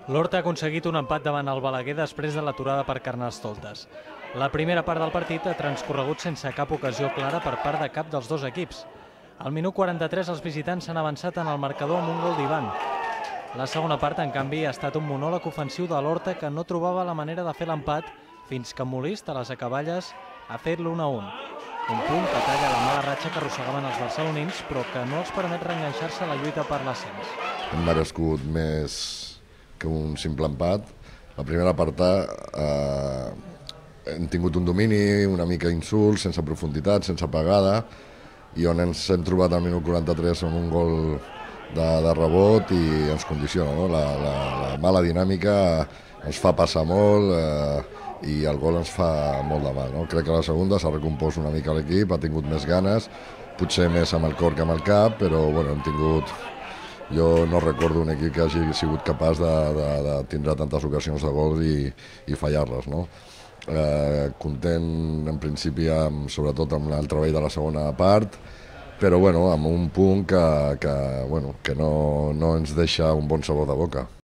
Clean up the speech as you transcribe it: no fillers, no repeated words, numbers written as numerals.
L'Horta ha aconseguit un empat davant el Balaguer després de l'aturada per Carnestoltes. La primera part del partit ha transcorregut sense cap ocasió clara per part de cap dels dos equips. Al minut 43 els visitants s'han avançat en el marcador amb un gol d'Ivan. La segona part, en canvi, ha estat un monòleg ofensiu de l'Horta que no trobava la manera de fer l'empat fins que Molist, a les acaballes, ha fet l'1-1. Un punt que talla la mala ratxa que arrossegaven els barcelonins, però que no els permet reenganxar-se a la lluita per l'ascens. Hem merescut més que un simple empat. La primera part hem tingut un domini, una mica insult, sense profunditat, sense pegada, i on ens hem trobat al minut 43 amb un gol de rebot i ens condiciona, no? La mala dinàmica ens fa passar molt i el gol ens fa molt de mal, no? Crec que a la segona s'ha recompost una mica l'equip, ha tingut més ganes, potser més amb el cor que amb el cap, però bueno, hem tingut... Jo no recordo un equip que hagi sigut capaç de tindre tantes ocasions de gol i fallar-les, no? Content en principi sobretot amb el treball de la segona part, però bueno, amb un punt que no ens deixa un bon sabor de boca.